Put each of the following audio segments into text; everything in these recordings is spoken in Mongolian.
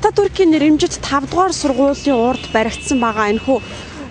Ататүркийн нэрэмжит 5 дугаар сургуулийн урд баригдсан байгаа энэхүү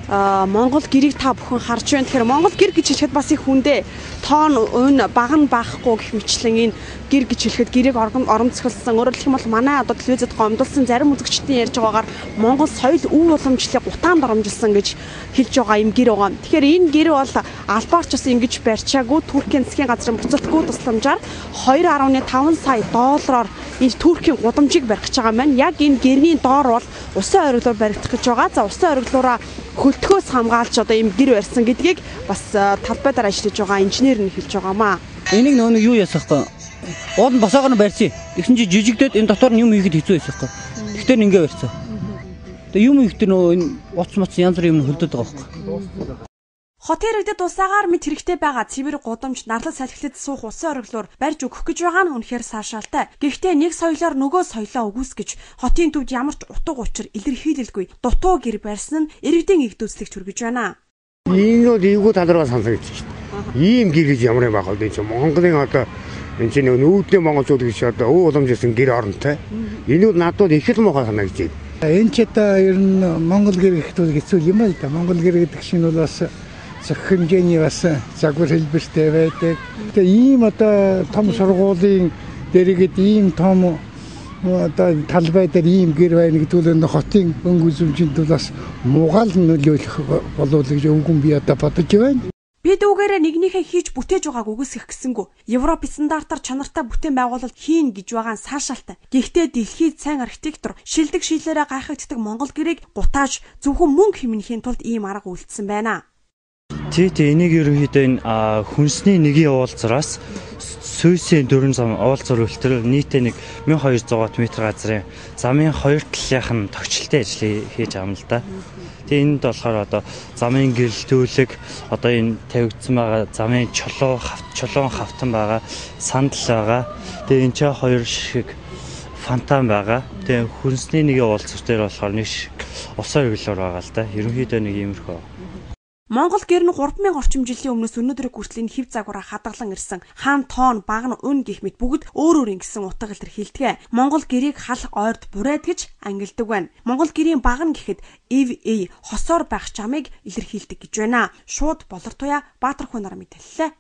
Монгол гэрийг та бүхэн харж байна. Тэгэхээр Монгол гэр гэж хэлэхэд бас их хүндээ тоон өн бага нь баахгүй гэх мэтлэн энэ гэр гэж хэлэхэд гэрийг оромцголсон. Өөрөөр хэлэх юм бол манай одоо телевизэд гомдолсон зарим үзэгчдийн ярьж байгаагаар Монгол соёл өв уламжлалыг гутаанд оромжилсан гэж хэлж байгаа юм гэр байгаа. Тэгэхээр энэ гэр бол албаарч бас ингэж барьчаагүй Туркийн засгийн газрын буцалтгүй тусламжаар 2.5 сая доллараар энэ Туркийн гудамжийг барих гэж байгаа юм байна. Яг энэ гэрний доор бол усан оргилоор баригдах гэж байгаа. За усан оргилоороо хөлтгөөс хамгаалж одоо ийм гэр барьсан гэдгийг бас талбайдаар ажиллаж байгаа инженер нь хэлж байгаамаа. Энийг нөө юу ясах вэ? Уул нь босоогоор нь барьсан. Тэгсэн чи жижигдээд энэ дотор нь юм хийхэд хэцүү байсан юм. Тэгтэр нь ингээ барьсан. Тэгээ юм хийхдээ нөө энэ уц моц янз бүрийн юм хөлдөд байгаа юм. Хотын иргэдэд усаагаар мэд хэрэгтэй байгаа цэвэр гудамж нарлал салхилд суух усан оргилоор барьж өгөх гэж байгаа нь үнэхээр саашаалтай. Гэхдээ нэг соёлоор нөгөө соёлоо үгүйсгэж хотын төвд ямар ч утга учир илэрхийлэлгүй дутуу гэр барьсан нь иргэдийн игдүүцлэгч хүргэж байна. Энэ бол эвгүй талраа сонсогдож шүү дээ. Ийм гэр гэж ямар юм байх вэ гэж Монголын одоо энэ чинь нүүдлийн монголчууд гэж одоо өв уламжлсан гэр оронтой. Энэ бол надад их л муухай санагдаж байна. Энэ ч одоо ер нь Монгол гэр гэхэд хэцүү юм л да. Монгол гэр гэдэг чинь бол бас зах хэмжээний бас загвар хэлбэртэй байдаг. Тэгээ ийм одоо том сургуулийн дэргэд ийм том одоо талбай дээр ийм гэр байна гэдүүл энэ хотын өнгө үзмжинд бас муугаал нөлөөлөх болов уу гэж өвгөн би одоо бодож байна. Бид үгээрээ нэгнийхээ хийж бүтээж байгааг үгүйсгэх гэсэнгүү Европ стандартаар чанартай бүтээн байгуулалт хийн гэж байгаа нь саашаалтай. Гэхдээ дэлхийд сайн архитектор шилдэг шийлээрээ гайхагддаг Монгол гэрийг гутааж зөвхөн мөнгө хэмнэхийн тулд ийм арга үйлдсэн байна. Тэ энийг ерөнхийдөө энэ хүнсний нэгийн уулзраас Сүйсийн дөрвөн зам уулзар үлтэр нийтээ 1200 м газрын замын хоёр талынх нь тогтчлолтой ажлыг хийж байгаа юм л да. Тэгээ энд болохоор одоо замын гэрэлтүүлэг одоо энэ тавигдсан байгаа замын чулуун хавтан байгаа сандал байгаа. Тэгээ энэ ч хоёр шиг фонтан байгаа. Тэгээ хүнсний нэгийн уулзар дээр болохоор нэг шиг усан өглөөр байгаа л да. Ерөнхийдөө нэг иймэрхүү. Монгол гэр нь 3000 орчим жилийн өмнөөс өнөөдөр хүртэл хив загвараа хадгалан ирсэн хаан тоон баг нь өн гих мэт бүгд өөр өөр ингэсэн утга илэрхийлдэг. Монгол гэрийг хал ойрд бурайд гэж ангилдаг байна. Монгол гэрийн баг нь гэхэд хосоор байх чамыг илэрхийлдэг гэж байна. Шууд болор туяа Баатар хүн нар мэдээллээ.